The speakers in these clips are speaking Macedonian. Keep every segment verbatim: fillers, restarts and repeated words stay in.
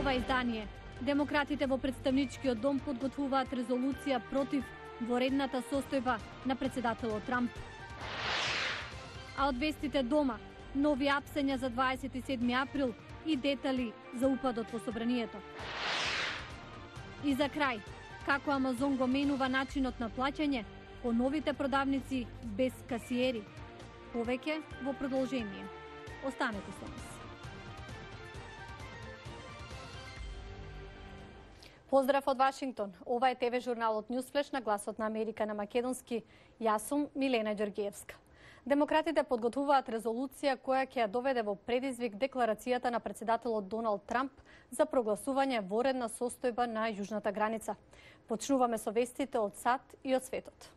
ова издание. Демократите во представничкиот дом подготвуваат резолуција против воредната состојба на председателот Трамп. А од вестите дома, нови апсења за дваесет и седми април и детали за упадот во собранието. И за крај, како Амазон го менува начинот на плаќање по новите продавници без касиери. Повеќе во продолжение. Останете со нас. Поздрав од Вашингтон. Ова е ТВ журналот Ньюсфлеш на гласот на Америка на македонски. Јас сум Милена Ѓоргиевска. Демократите подготвуваат резолуција која ќе ја доведе во предизвик декларацијата на председателот Доналд Трамп за прогласување воредна состојба на јужната граница. Почнуваме со вестите од САД и од светот.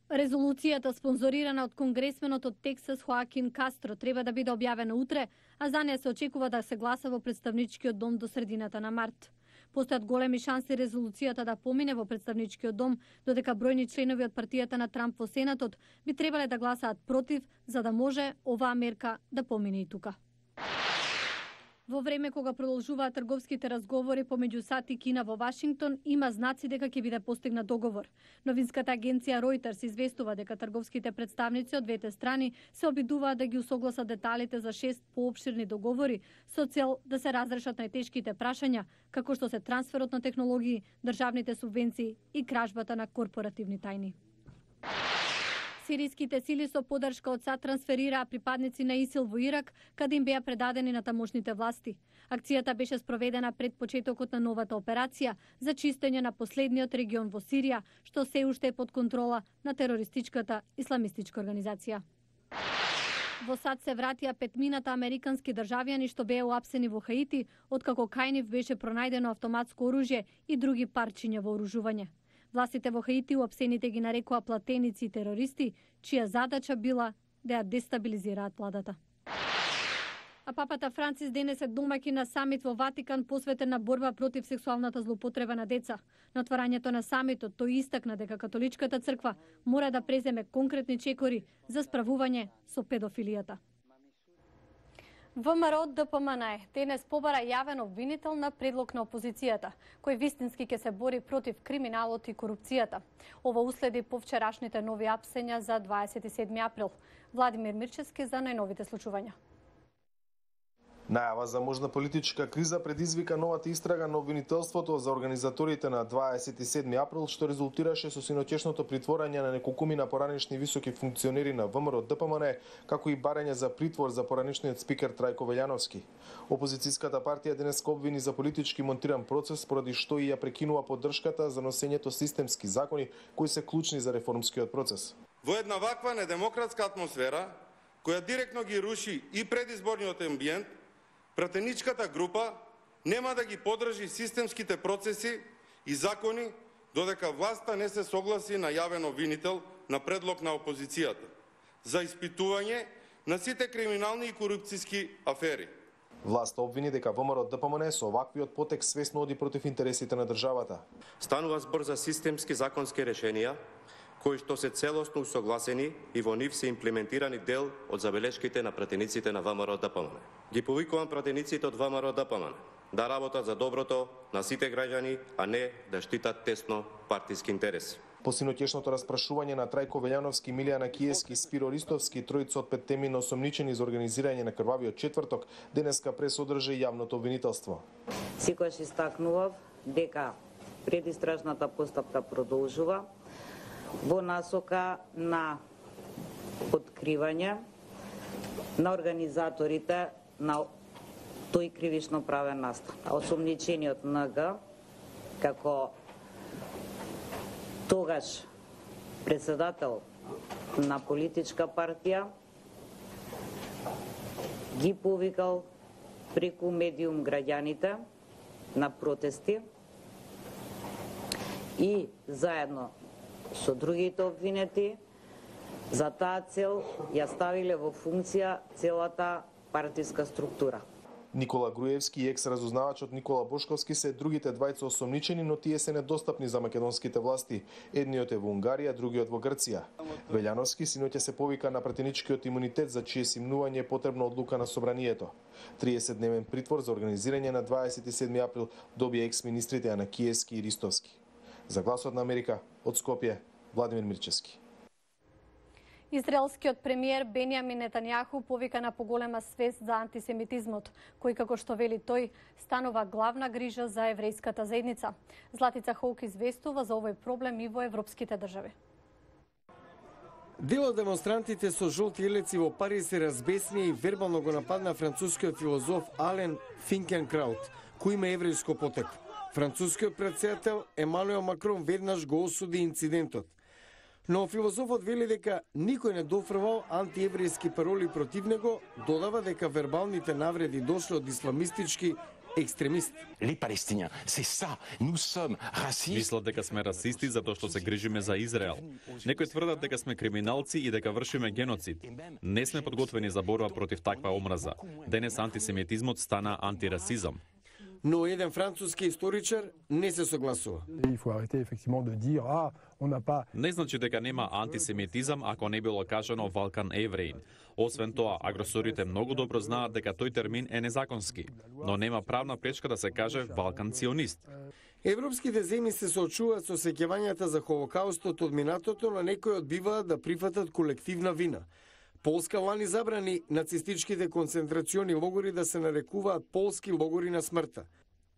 Резолуцијата, спонзорирана од конгресменот од Тексас Хоакин Кастро, треба да биде објавена утре, а за неја се очекува да се гласа во представничкиот дом до средината на март. Постојат големи шанси резолуцијата да помине во представничкиот дом, додека бројни членови од партијата на Трамп во Сенатот би требале да гласаат против, за да може оваа мерка да помине и тука. Во време кога продолжуваат трговските разговори помеѓу САД и Кина во Вашингтон, има знаци дека ќе биде постигнат договор. Новинската агенција Reuters известува дека трговските представници од двете страни се обидуваат да ги усогласат деталите за шест поопширни договори со цел да се разрешат најтешките прашања, како што се трансферот на технологии, државните субвенции и кражбата на корпоративни тајни. Сириските сили со поддршка од САД трансферираа припадници на ИСИЛ во Ирак, каде им беа предадени на тамошните власти. Акцијата беше спроведена пред почетокот на новата операција за чистење на последниот регион во Сирија, што се уште е под контрола на терористичката исламистичка организација. Во САД се вратија петмината американски државјани што беа уапсени во Хаити, откако кај нив беше пронајдено автоматско оружје и други парчиња вооружување. Властите во Хаити уапсените ги нарекоа платеници и терористи, чија задача била да ја дестабилизираат владата. А папата Францис денес е домаќин на самит во Ватикан посветен на борба против сексуалната злоупотреба на деца. На отварањето на самитот тој истакна дека католичката црква мора да преземе конкретни чекори за справување со педофилијата. ВМРО Д П М Н денес побара јавен обвинител на предлог на опозицијата, кој вистински ќе се бори против криминалот и корупцијата. Ова уследи по вчерашните нови апсења за дваесет и седми април. Владимир Мирчевски за најновите случувања. Најава за можна политичка криза предизвика новата истрага на обвинителството за организаторите на дваесет и седми април, што резултираше со синоќешното притворање на неколкумина поранешни високи функционери на ВМРО Д П М Н, како и барање за притвор за поранешниот спикер Трајко Велјановски. Опозицијската партија денес обвини за политички монтиран процес, поради што и ја прекинува поддршката за носењето системски закони кои се клучни за реформскиот процес. Во една ваква недемократска атмосфера, која директно ги руши и предизборниот амбиент, пратеничката група нема да ги поддржи системските процеси и закони додека власта не се согласи на јавен обвинител на предлог на опозицијата за испитување на сите криминални и корупцијски афери. Власта обвини дека ВМРО Д П М Н со оваквиот потек свесно оди против интересите на државата. Станува збор за системски законски решенија кои што се целосно усогласени и во нив се имплементирани дел од забелешките на пратениците на ВМРО Д П М Н. Ги повикувам пратениците од ВМРО Д П М Н да работат за доброто на сите граѓани, а не да штитат тесно партиски интереси. По синоќешното распрашување на Трајко Велјановски, Милијана Киевски и Спиро Ристовски, тројца од петтеми осомничени за организирање на крвавиот четврток, денеска пресодржа и јавното обвинителство. Секогаш истакнував дека предистражната постапка продолжува во насока на откривање на организаторите на тој кривично правен настан. Осомничениот Н Г како тогаш председател на политичка партија ги повикал преку медиум граѓаните на протести и заедно со другите обвинети за таа цел ја ставиле во функција целата партиска структура. Никола Груевски и екс-разузнавачот Никола Бошковски се другите двајца осомничени, но тие се недостапни за македонските власти. Едниот е во Унгарија, другиот во Грција. Велјановски синоќа се повика на пратеничкиот имунитет, за чие симнување е потребна одлука на собранието. триесетдневен притвор за организирање на дваесет и седми април добија екс-министрите Анакиевски и Ристовски. За Гласот на Америка, од Скопје, Владимир Мирчевски. Израелскиот премиер Бенјамин Нетањаху повика на поголема свест за антисемитизмот, кој, како што вели тој, станува главна грижа за еврејската заедница. Златица Хоук известува за овој проблем и во европските држави. Дел од демонстрантите со жолти елеци во Париз се разбесни и вербално го нападна францускиот филозоф Ален Финкенкраут, кој има еврејско потекло. Францускиот претседател Емануел Макрон веднаш го осуди инцидентот. Но филозофот вели дека никој не дофрвал антиеврејски пароли против него, додава дека вербалните навреди дошле од исламистички екстремисти. Мислат дека сме расисти затоа што се грижиме за Израел. Некои тврдат дека сме криминалци и дека вршиме геноцид. Не сме подготвени за борба против таква омраза. Денес антисемитизмот стана антирасизам. Но еден француски историчар не се согласува. Не значи дека нема антисемитизам ако не било кажано Валкан евреин. Освен тоа, агресорите многу добро знаат дека тој термин е незаконски, но нема правна пречка да се каже Валкан ционист. Европските земји се соочуваат со сеќавањата за Холокаустот од минатото, но некои одбиваат да прифатат колективна вина. Полска лани забрани нацистичките концентрациони логори да се нарекуваат полски логори на смртта.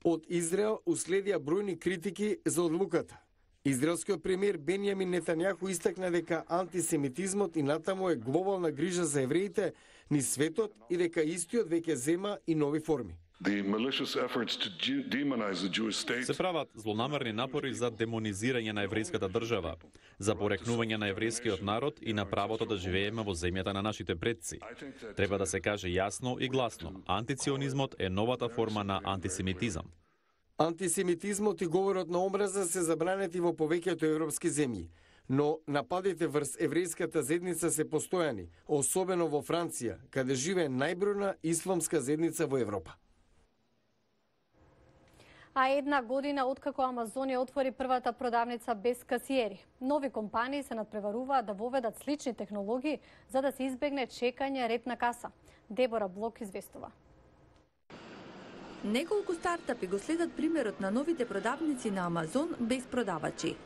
Од Израел уследија бројни критики за одлуката. Израелскиот премиер Бенјамин Нетањаху истакна дека антисемитизмот и натаму е глобална грижа за евреите низ светот и дека истиот веќе зема и нови форми. Се прават злонамерни напори за демонизирање на еврејската држава, за порекнување на еврејскиот народ и на правото да живееме во земјата на нашите предци. Треба да се каже јасно и гласно, антиционизмот е новата форма на антисемитизам. Антисемитизмот и говорот на омраза се забранети во повеќето европски земји, но нападите врз еврејската заедница се постојани, особено во Франција, каде живее најбројна исламска заедница во Европа. А една година откако Амазон ја отвори првата продавница без касиери. Нови компании се надпреваруваат да воведат слични технологии за да се избегне чекање ред на каса. Дебора Блок известува. Неколку стартапи го следат примерот на новите продавници на Амазон без продавачи.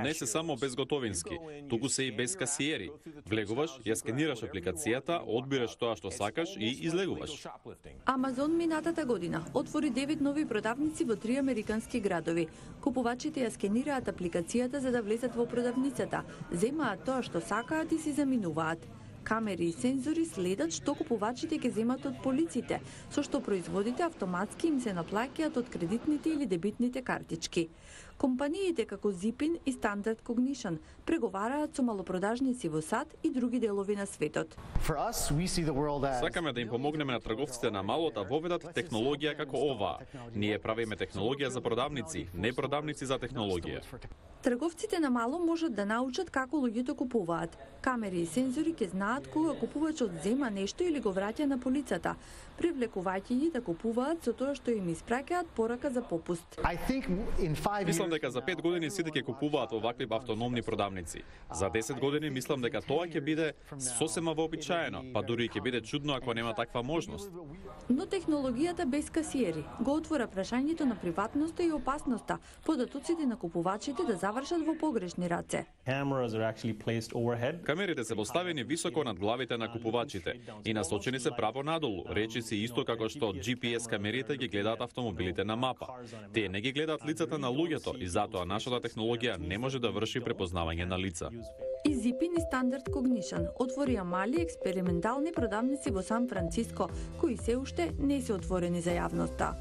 Не се само безготовински, туку се и без касиери. Влегуваш, ја скенираш апликацијата, одбираш тоа што сакаш и излегуваш. Амазон минатата година отвори девет нови продавници во три американски градови. Купувачите ја скенираат апликацијата за да влезат во продавницата, земаат тоа што сакаат и си заминуваат. Камери и сензори следат што купувачите ќе земат од полиците, со што производите автоматски им се наплаќаат од кредитните или дебитните картички. Компаниите како Zipin и Standard Cognition преговараат со малопродажници во САД и други делови на светот. Сакаме да им помогнеме на трговците на мало да воведат технологија како оваа. Ние правиме технологија за продавници, не продавници за технологија. Трговците на мало можат да научат како луѓето купуваат. Камери и сензори ќе знаат кога купувачот зема нешто или го враќа на полицата, привлекувајќи ги да купуваат со тоа што им испраќаат порака за попуст. Мислам дека за пет години сите ќе купуваат овакви автономни продавници. За десет години мислам дека тоа ќе биде сосема вообичаено, па дури ќе биде чудно ако нема таква можност. Но технологијата без касиери го отвора прашањето на приватноста и опасноста, податоците на купувачите да завршат во погрешни раце. Камерите се поставени високо над главите на купувачите и насочени се право надолу, речиси исто како што Джи Пи Ес камерите ги гледаат автомобилите на мапа. Тие не ги гледаат лицата на луѓето и затоа нашата технологија не може да врши препознавање на лица. И Zipin и Standard Cognition отворија мали експериментални продавници во Сан Франциско, кои се уште не се отворени за јавноста.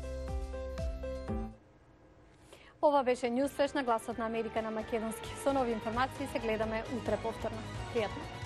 Ова беше Ньюсфлеш на Гласот на Америка на македонски. Со нови информации се гледаме утре повторно. Пријатно.